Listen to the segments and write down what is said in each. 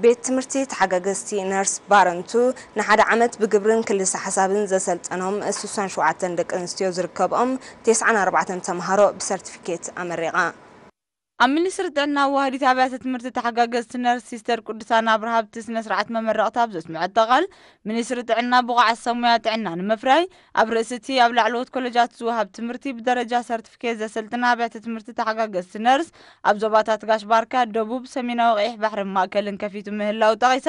ቤት ትምህርቲ ተሓጋገዝቲ ነርስ ባረንቱ ንሓደ ዓመት ብግብርን ክልሰ ሓሳብን ዘሰልጠኖም ስሳን ሸውዓተን ደቂ ኣንስትዮ ዝርከብኦም ተስዓን ኣርባዕተን ተምሃሮ ብሰርቲፊኬት ኣመሪቓ። ኣብ ሚኒስትሪ ጥዕና ዋህዲት ኣብያተ ትምህርቲ ተሓጋገዝቲ ነርስ ሲስተር ቅዱሳን ኣብርሃ ኣብቲ ስነ ስርዓት መመረቕታ ኣብ ዘስምዐቶ ቃል፣ ሚኒስትሪ ጥዕና ብቑዓት ሰብ ሞያ ጥዕና ንምፍራይ ኣብ ርእሲ እቲ ኣብ ላዕለዎት ኮለጃት ዝወሃብ ትምህርቲ ብደረጃ ሰርቲፊኬት ዘሰልጥና ኣብያተ ትምህርቲ ተሓጋገዝቲ ነርስ ኣብ ዞባታት ጋሽ ባርካ፣ ደቡብ፣ ሰሜናዊ ቀይሕ ባሕርን ማእከልን ከፊቱ ምህላው ጠቒሳ፣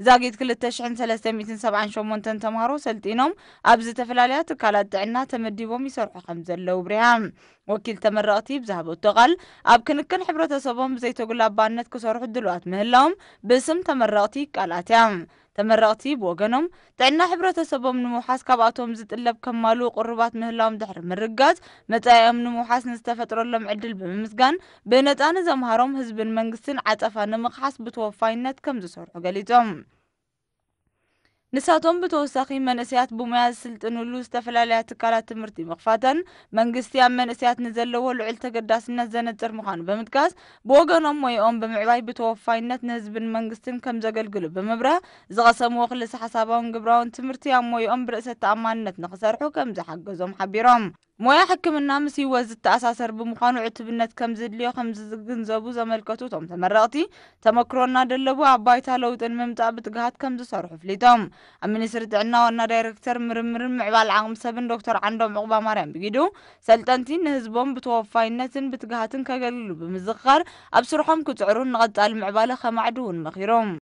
ዛጊት ክልተ ሽሕን ሰለስተ ሚእትን ሰብዓን ሸሞንተን ተምሃሮ ሰልጢኖም ኣብ ዝተፈላለያ ትካላት ጥዕና ተመዲቦም ይሰርሑ ከም ዘለዉ ኣብሪሃ። ወኪል ተመረቕቲ ብዝሃበቶ ቃል፣ ኣብ ክንክን ሕብረተሰቦም ብዘይተጉላባነት ክሰርሑ ድሉዋት ምህላዎም ብስም ተመረቕቲ ቃል ኣትያ። ተመረቕቲ ብወገኖም፣ ጥዕና ሕብረተሰቦም ንምውሓስ ካብኣቶም ዝጥለብ ከማልኡ ቅሩባት ምህላዎም ድሕሪ ምርጋጽ፣ መጻኢኦም ንምውሓስ ንዝተፈጥረሎም ዕድል ብምምስጋን፣ ብነጻ ንዘምሃሮም ህዝብን መንግስትን ዓጸፋ ንምኽሓስ ብተወፋይነት ከም ዝሰርሑ ገሊጾም። ንሳቶም ብተወሳኺ መንእሰያት ብሞያ ዝስልጥንሉ ዝተፈላለያ ትካላት ትምህርቲ ምኽፋተን መንግስቲ ኣብ መንእሰያት ንዘለዎ ልዑል ተገዳስነት ዘነጽር ምዃኑ ብምጥቃስ፣ ብወገኖም ሞይኦም ብምዕባይ ብተወፋይነት ንህዝብን መንግስትን ከም ዘገልግሉ ብምብራህ፣ ዝቐሰምዎ ክልሰ ሓሳባውን ግብራውን ትምህርቲ ኣብ ሞይኦም ብርእሰ ተኣማንነት ንኽሰርሑ ከም ዝሓገዞም ሓቢሮም። ሞያ ሕክምና ምስ ህይወት ዝተኣሳሰር ብምዃኑ ዕቱብነት ከም ዝድልዮ ከም ዝግንዘቡ ዘመልከቱ እቶም ተመረቕቲ፣ ተመክሮ እናደለቡ ኣብ ባይታ ለውጢ ንምምጻእ ብትግሃት ከም ዝሰርሑ ኣፍሊጦም። ኣብ ሚኒስትሪ ጥዕና ዋና ዳይሬክተር ምርምርን ምዕባል ዓቕሚ ሰብን ዶክተር ዓንዶም ዑቕባማርያም ብጊዱ፣ ሰልጠንቲ ንህዝቦም ብተወፋይነትን ብትግሃትን ከገልግሉ ብምዝኽኻር፣ ኣብ ስርሖም ክጽዕሩን ንቐጻሊ ምዕባለ ከማዕድውን መኺሮም።